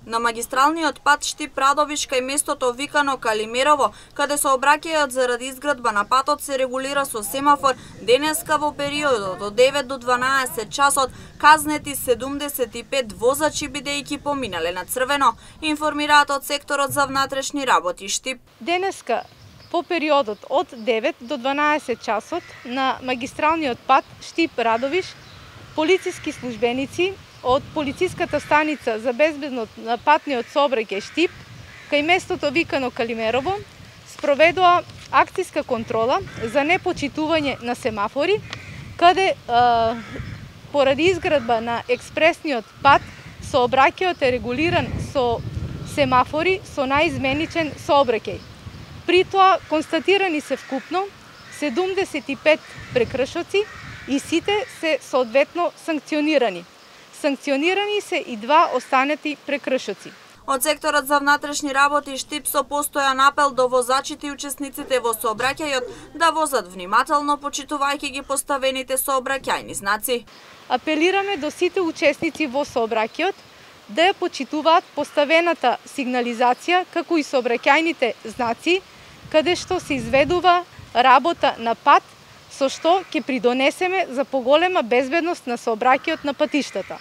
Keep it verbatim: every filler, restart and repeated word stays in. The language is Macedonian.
На магистралниот пат Штип-Радовиш кај местото викано Калимерово, каде сообраќајот заради изградба на патот се регулира со семафор, денеска во периодот од девет до дванаесет часот казнети седумдесет и пет возачи бидејќи поминале на црвено, информираат од секторот за внатрешни работи Штип. Денеска по периодот од девет до дванаесет часот на магистралниот пат Штип-Радовиш полициски службеници од полициската станица за безбедност на патниот сообраќај Штип, кај местото викано Калимерово, спроведува акцијска контрола за непочитување на семафори, каде а, поради изградба на експресниот пат сообраќајот е регулиран со семафори со наизменичен сообраќај. При тоа констатирани се вкупно седумдесет и пет прекршоци и сите се соодветно санкционирани. Санкционирани се и два останати прекршоци. Од секторот за внатрешни работи Штип со постојан апел до возачите и учесниците во сообраќајот да возат внимателно, почитувајќи ги поставените сообраќајни знаци. Апелираме до сите учесници во сообраќајот да ја почитуваат поставената сигнализација, како и сообраќајните знаци, каде што се изведува работа на пат, со што ќе придонесеме за поголема безбедност на сообраќајот на патиштата.